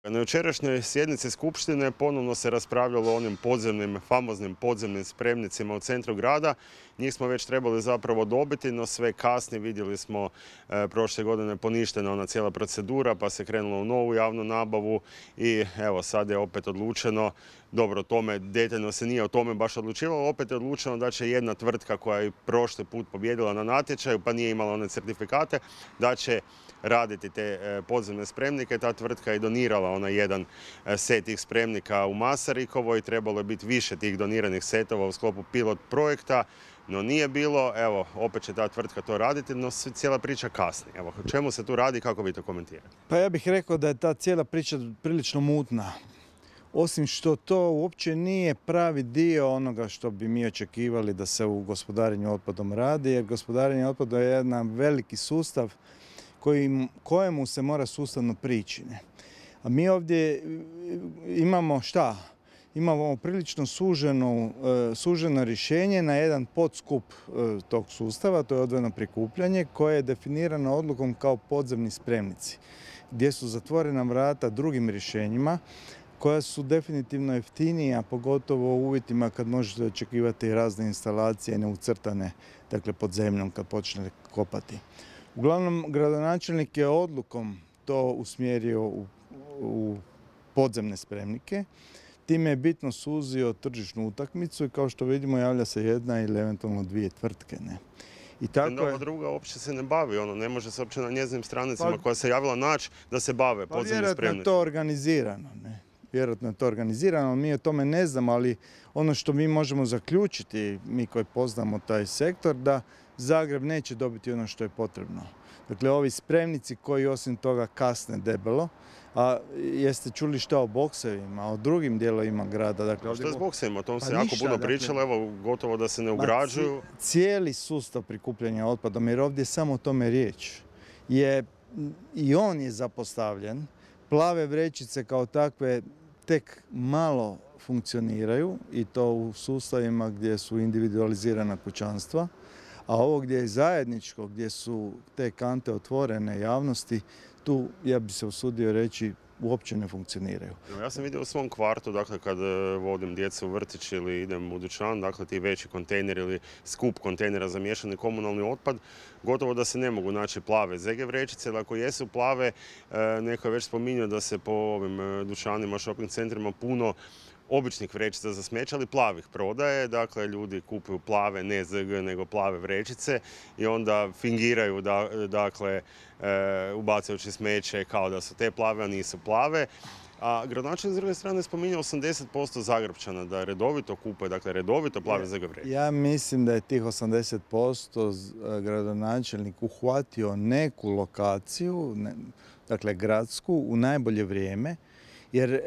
Na jučerašnjoj sjednici Skupštine ponovno se raspravljalo o onim famoznim podzemnim spremnicima u centru grada. Njih smo već trebali zapravo dobiti, no sve kasni. Vidjeli smo prošle godine poništena ona cijela procedura, pa se krenulo u novu javnu nabavu i evo sad je opet odlučeno, dobro, tome detaljno se nije o tome baš odlučivalo, opet je odlučeno da će jedna tvrtka koja je prošli put pobijedila na natječaju pa nije imala one certifikate, da će raditi te podzemne spremnike. Ta tvrtka je donirala onaj jedan set tih spremnika u Masarikovoj. Trebalo je biti više tih doniranih setova u sklopu pilot projekta, no nije bilo. Evo, opet će ta tvrtka to raditi, no cijela priča kasni. Evo, o čemu se tu radi, kako vi to komentirate? Pa ja bih rekao da je ta cijela priča prilično mutna. Osim što to uopće nije pravi dio onoga što bi mi očekivali da se u gospodarenju otpadom radi, jer gospodarenje otpadom je jedan veliki sustav kojemu se mora sustavno prići. A mi ovdje imamo šta? Imamo prilično suženo rješenje na jedan podskup tog sustava, to je odvojeno prikupljanje, koje je definirano odlukom kao podzemni spremnici, gdje su zatvorena vrata drugim rješenjima, koja su definitivno jeftinija, pogotovo u uvjetima kad možete očekivati razne instalacije neucrtane, dakle pod zemljom kad počnete kopati. Uglavnom, gradonačelnik je odlukom to usmjerio u podzemne spremnike. Time je bitno suzio tržišnu utakmicu i kao što vidimo javlja se jedna ili eventualno dvije tvrtke. I tako ova druga uopće se ne bavi, ne može se uopće na njezinim stranicama koja se javila naći da se bave podzemnim spremnicima. Vjerojatno je to organizirano. Vjerojatno je to organizirano, mi o tome ne znamo, ali ono što mi možemo zaključiti, mi koji poznamo taj sektor, da Zagreb neće dobiti ono što je potrebno. Dakle, ovi spremnici koji osim toga kasne debelo, a jeste čuli šta o boksevima, o drugim dijelovima grada? Dakle, što je s boksevima? O tom se jako puno pričalo, evo gotovo da se ne ugrađuju. Cijeli sustav prikupljanja otpadom, jer ovdje samo o tome riječ, i on je zapostavljen. Plave vrećice kao takve tek malo funkcioniraju i to u sustavima gdje su individualizirana kućanstva, a ovo gdje je zajedničko, gdje su te kante otvorene javnosti, tu, ja bi se usudio reći, uopće ne funkcioniraju. Ja sam vidio u svom kvartu, dakle, kad vodim djecu u vrtić ili idem u dućan, dakle, ti veći kontejneri ili skup kontejnera za miješani komunalni otpad, gotovo da se ne mogu naći plave ZG vrećice, ali ako jesu plave, neko je već spominjao da se po ovim dućanima, shopping centrima puno običnih vrećica za smeće, ali plavih prodaje. Dakle, ljudi kupuju plave, ne ZG, nego plave vrećice i onda fingiraju, dakle, ubacujući smeće kao da su te plave, a nisu plave. A gradonačelnik s druge strane spominje 80% Zagrepčana da redovito kupuje, dakle redovito plave ZG vrećice. Ja mislim da je tih 80% gradonačelnik uhvatio neku lokaciju, dakle gradsku, u najbolje vrijeme, jer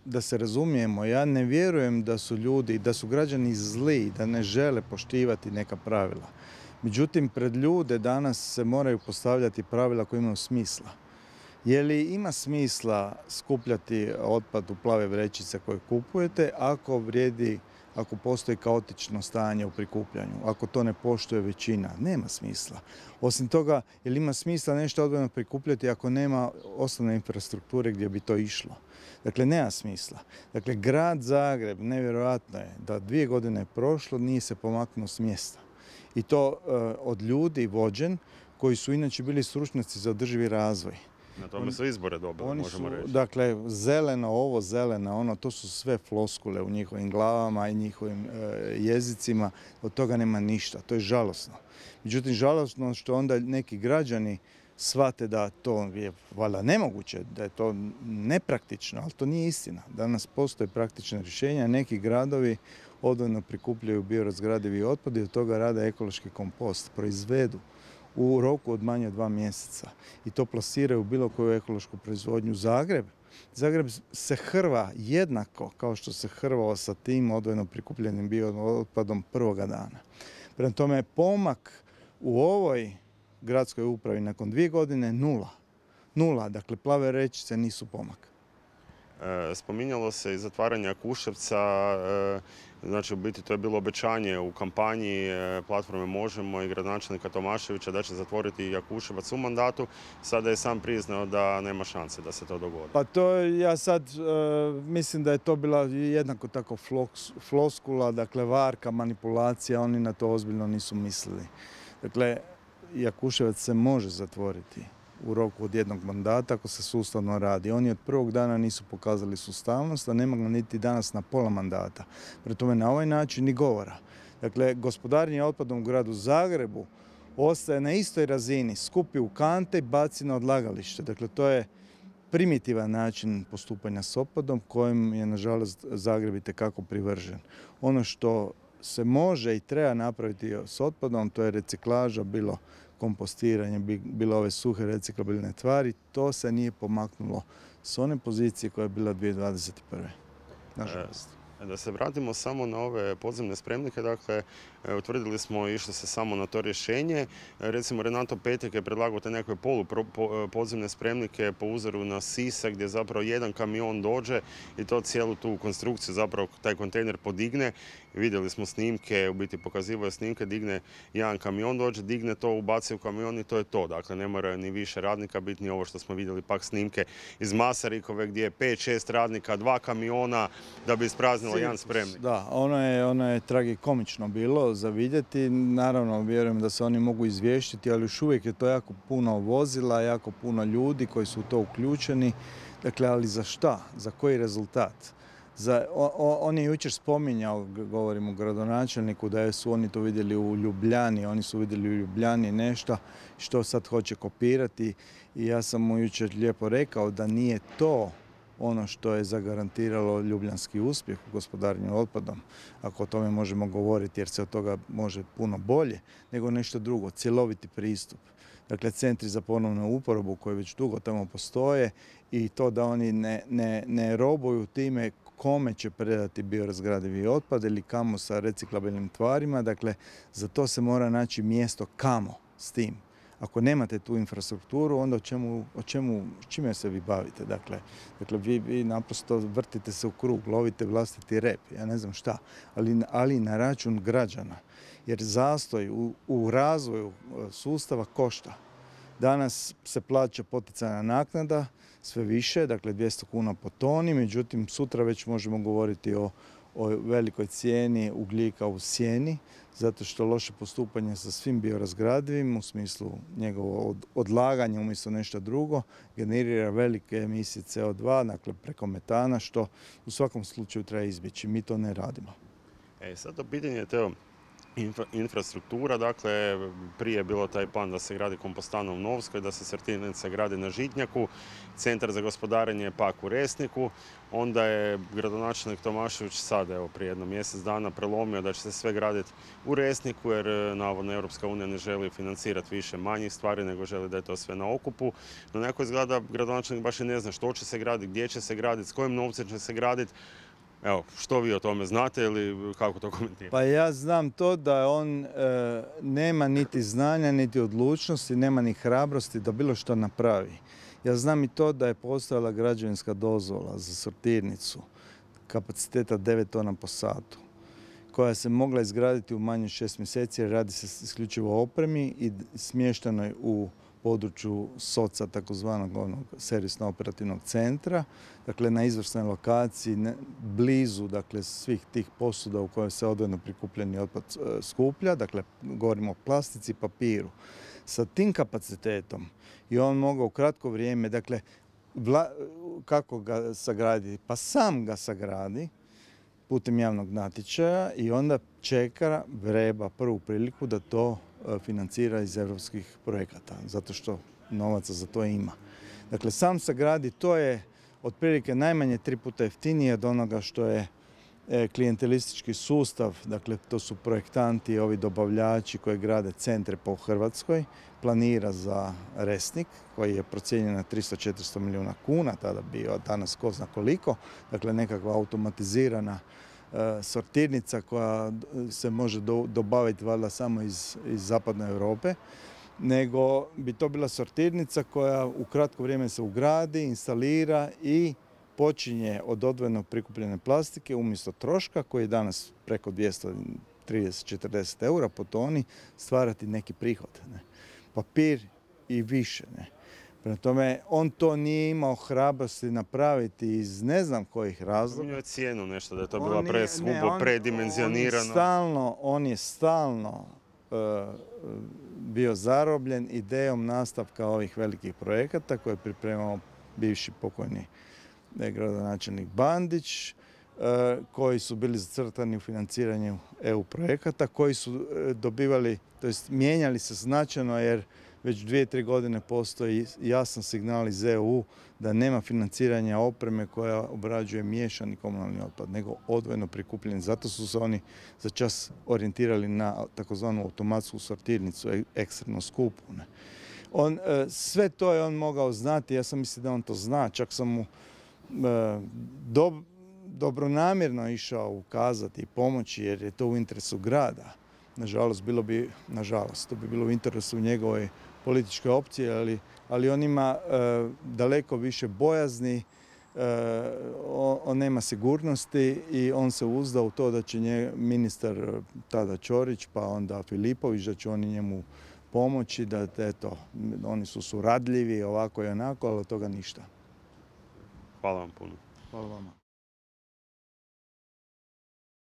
da se razumijemo, ja ne vjerujem da su ljudi, da su građani zli, da ne žele poštivati neka pravila. Međutim, pred ljude danas se moraju postavljati pravila koja imaju smisla. Je li ima smisla skupljati otpad u plave vrećice koje kupujete ako postoji kaotično stanje u prikupljanju, ako to ne poštuje većina? Nema smisla. Osim toga, je li ima smisla nešto odvojeno prikupljati ako nema osnovne infrastrukture gdje bi to išlo? Dakle, nema smisla. Dakle, grad Zagreb, nevjerojatno je da 2 godine je prošlo, nije se pomaknuo s mjesta. I to od ljudi vođen koji su inače bili stručnjaci za održivi razvoj. Na tome su izbore dobili, možemo reći. Dakle, zeleno ovo, zeleno ono, to su sve floskule u njihovim glavama i njihovim jezicima. Od toga nema ništa. To je žalosno. Međutim, žalosno što onda neki građani shvate da to je valjda nemoguće, da je to nepraktično, ali to nije istina. Danas postoje praktična rješenja. Neki gradovi odvojeno prikupljaju biorazgradivi otpad i od toga rade ekološki kompost, proizvedu u roku od manje od 2 mjeseca i to plasiraju u bilo koju ekološku proizvodnju. Zagreb se hrva jednako kao što se hrvao sa tim odvojeno prikupljenim biootpadom prvoga dana. Prema tome, pomak u ovoj gradskoj upravi nakon 2 godine nula. Dakle, plave vrećice nisu pomak. Spominjalo se i zatvaranje Jakuševca, znači u biti to je bilo obećanje u kampanji platforme Možemo i gradonačelnika Tomaševića da će zatvoriti Jakuševac u mandatu. Sada je sam priznao da nema šanse da se to dogodi. Pa to ja sad mislim da je to bila jednako tako floskula, dakle varka, manipulacija, oni na to ozbiljno nisu mislili. Dakle, Jakuševac se može zatvoriti u roku od jednog mandata ako se sustavno radi. Oni od prvog dana nisu pokazali sustavnost, a nema ga niti danas na pola mandata. Prema tome na ovaj način ni govora. Dakle, gospodarenje otpadom u gradu Zagrebu ostaje na istoj razini, skupi u kante i baci na odlagalište. Dakle, to je primitivan način postupanja s otpadom kojim je, nažalost, Zagreb itekako privržen. Ono što se može i treba napraviti s otpadom, to je reciklaža, bilo kompostiranje, bilo ove suhe reciklabilne tvari, to se nije pomaknulo s one pozicije koja je bila 2021. Nažalost. Da se vratimo samo na ove podzemne spremnike, dakle, utvrdili smo išli se samo na to rješenje. Recimo, Renato Petek je predlagao te neke podzemne spremnike po uzoru na Sisak, gdje zapravo jedan kamion dođe i to cijelu tu konstrukciju, zapravo taj kontejner podigne. Vidjeli smo snimke, u biti pokazivaju snimke, digne jedan kamion, dođe, digne to, ubaci u kamion i to je to. Dakle, ne mora ni više radnika biti, ni ovo što smo vidjeli pak snimke iz Masarikove, gdje je 5-6 radnika, 2 kamiona da bi ispraznilo jedan spremnik. Da, ono je tragikomično bilo za vidjeti. Naravno, vjerujem da se oni mogu izvještiti, ali još uvijek je to jako puno vozila, jako puno ljudi koji su u to uključeni. Dakle, ali za šta? Za koji rezultat? On je jučer spominjao, govorim o gradonačelniku, da su oni to vidjeli u Ljubljani, oni su vidjeli u Ljubljani nešto što sad hoće kopirati i ja sam mu jučer lijepo rekao da nije to ono što je zagarantiralo ljubljanski uspjeh u gospodarenju otpadom, ako o tome možemo govoriti jer se od toga može puno bolje, nego nešto drugo, cjeloviti pristup. Dakle, centri za ponovnu uporabu koji već dugo tamo postoje i to da oni ne robuju time kome će predati biorazgradivi otpad ili kamo sa reciklabilnim tvarima. Dakle, za to se mora naći mjesto kamo s tim. Ako nemate tu infrastrukturu, onda čime se vi bavite? Dakle vi naprosto vrtite se u krug, lovite vlastiti rep, ja ne znam šta, ali na račun građana. Jer zastoj u razvoju sustava košta. Danas se plaća poticajna naknada, sve više, dakle 200 kuna po toni, međutim sutra već možemo govoriti o velikoj cijeni ugljika u sjeni, zato što loše postupanje sa svim biorazgradivim u smislu njegovo odlaganje umjesto nešto drugo generira velike emisije CO2, dakle preko metana, što u svakom slučaju treba izbjeći. Mi to ne radimo. Sad to pitanje je teo infrastruktura, dakle prije je bilo taj plan da se gradi kompostana u Novskoj, da se sortirnica gradi na Žitnjaku, centar za gospodarenje pak u Resniku, onda je gradonačelnik Tomašević sad, evo prije jedno mjesec dana prelomio da će se sve graditi u Resniku jer navodno Europska unija ne želi financirati više manjih stvari nego želi da je to sve na okupu. No neko izgleda gradonačelnik baš i ne zna što će se graditi, gdje će se graditi, s kojim novcem će se graditi. Evo, što vi o tome znate ili kako to komentirate? Pa ja znam to da on nema niti znanja, niti odlučnosti, nema ni hrabrosti da bilo što napravi. Ja znam i to da je postojala građevinska dozvola za sortirnicu kapaciteta 9 tona po satu, koja se mogla izgraditi u manje 6 mjeseci jer radi se isključivo o opremi i smještenoj u području SOC-a, takozvanog servisno-operativnog centra, dakle na izvrsnoj lokaciji, blizu dakle, svih tih posuda u kojoj se odvojeno prikupljeni otpad skuplja, dakle govorimo o plastici i papiru. Sa tim kapacitetom i on mogao u kratko vrijeme, dakle kako ga sagraditi? Pa sam ga sagradi putem javnog natječaja i onda čeka, vreba prvu priliku da to financira iz europskih projekata, zato što novaca za to ima. Dakle, sam sagradi, to je otprilike najmanje 3 puta jeftinije od onoga što je klijentelistički sustav, dakle to su projektanti i ovi dobavljači koji grade centre po Hrvatskoj, planira za Resnik koji je procijenjen na 300-400 milijuna kuna, tada bio, danas ko zna koliko, dakle nekakva automatizirana sortirnica koja se može dobaviti valjda samo iz zapadne Europe, nego bi to bila sortirnica koja u kratko vrijeme se ugradi, instalira i počinje od odvojeno prikupljene plastike umjesto troška koji je danas preko 230-40 eura po toni stvarati neki prihod. Ne. Papir i više. Ne. Prema tome, on to nije imao hrabrosti napraviti iz ne znam kojih razloga. Spominjao je cijenu nešto, da je to bila preskupo, predimenzionirano. On je stalno bio zarobljen idejom nastavka ovih velikih projekata koje je pripremao bivši pokojni gradonačelnik Bandić, koji su bili zacrtani u financiranju EU projekata, koji su dobivali, to jest mijenjali se značajno jer već 2-3 godine postoji jasan signal iz EU da nema financiranja opreme koja obrađuje miješani komunalni otpad, nego odvojeno prikupljen. Zato su se oni za čas orijentirali na takozvanu automatsku sortirnicu, ekstremno skupu. Sve to je on mogao znati, ja sam mislio da on to zna, čak sam mu dobronamjerno išao ukazati i pomoći jer je to u interesu grada. Nažalost, to bi bilo u interesu njegovoj političkoj opcije, ali on ima daleko više bojazni, on nema sigurnosti i on se uzda u to da će ministar tada Ćorić pa onda Filipović, da će oni njemu pomoći, da eto, oni su suradljivi ovako i onako, ali od toga ništa. Hvala vam puno. Hvala vama.